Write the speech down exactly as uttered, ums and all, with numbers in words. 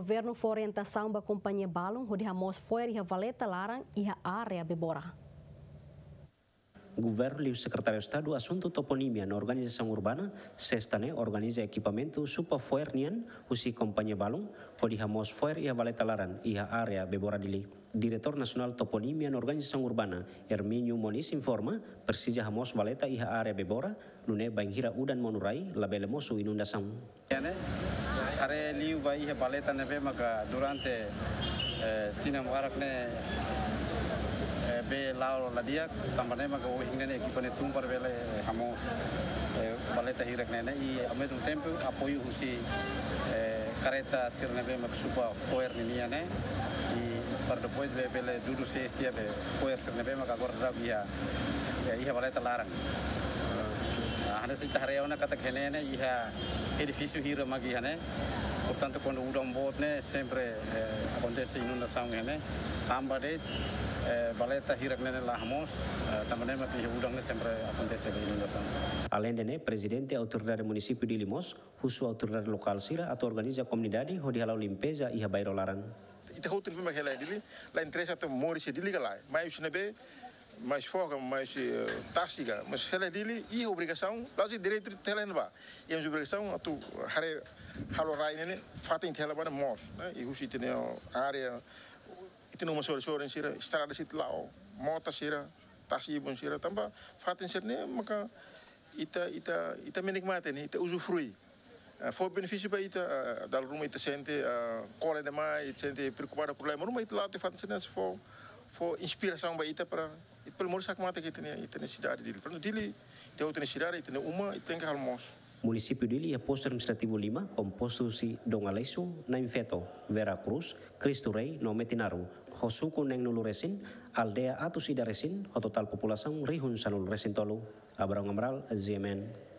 Governu fó orientasaun ba kompañia balun hodi hamoos fo'er iha valeta laran iha área Bebora. Governu liu Sekretáriu Estadu Asuntu Toponímia no Organizasaun Urbana, SESTA ne'e organiza ekipamentu supa fo'er nian husi kompañia balun hodi hamoos fo'er iha valeta laran iha área Bebora, Dili. Diretór Nasionál Toponímia no Organizasaun Urbana, Hermínio Moniz, informa, presiza hamoos valeta iha área Bebora, nune'e bainhira udan monu rai labele mosu inundasaun. Ne'e, haree liu ba iha valeta ne'ebé maka durante, eh, tinan barak ne'e, eh, bee la'o la di'ak, tanba ne'e maka ohin ne'e ekipa ne'e tun para bele, eh, hamoos, eh, valeta hirak ne'e, ne'e, i ao mesmo tempo apoiu husi, eh, kareta sira ne'ebé maka supa fo'er ninian ne'e, i para depois be bele dudu se estia be fo'er sira ne'ebé maka agora daudaun iha, eh, iha valeta laran. Ah, hanesan ita haree ona katak iha ne'e ne'e iha edifísiu hira mak iha ne'e. Portantu, kuandu udan boot ne'e sempre, eh, akontese inundasaun iha ne'e. Tanba de'it, eh, valeta hirak ne'e ne'e la hamoos, eh, tanba ne'e mak iha udan ne'e sempre akontese inundasaun. Aleinde ne'e, Prezidente Autoridade Munisípiu Dili mós husu autoridade lokál sira atu organiza komunidade hodi hala'o limpeza iha bairru laran. Ita hotu ne'ebé mak hela iha Dili, la interesa atu moris iha Dili ka lae. Mai husi ne'ebé, mai husi foho ka, mai husi, eh, tasi ka, mas hela iha Dili, iha obrigasaun, la'ós direitu ita hela iha ne'ebá. Iha mós obrigasaun atu haree, halo rai ne'e ne'e, fatin ita hela ba ne'e moos, ne'e? I husi ita-nia área, ita-nia uma sorin-sorin sira, estrada sira la'o, mota sira, tasi ibun sira, tanba fatin sira-ne'e maka ita, ita, ita menikmati ne'e, ita uzufrui. Ah, fó benefísiu ba ita, ah, dala ruma ita sente, ah, kole demais, ita sente preokupadu problema. Ruma ita la'o tiha fatin sira-ne'e fó, fó inspirasaun ba ita para ita bele moris hakmatek iha ita-nia, ita-nia sidade Dili. Portantu, Dili, ita hotu nia sidade, ita-nia uma, ita tenke halo moos. Munisípiu Dili iha postu administrativu lima, kompostu husi Dom Aleixo, Nain Feto, Vera Cruz, Cristo Rei no Metinaro, ho suku neenulu resin, aldeia atus ida resin, ho totál populasaun rihun sanulu resin tolu. Abrão Amaral, G M N.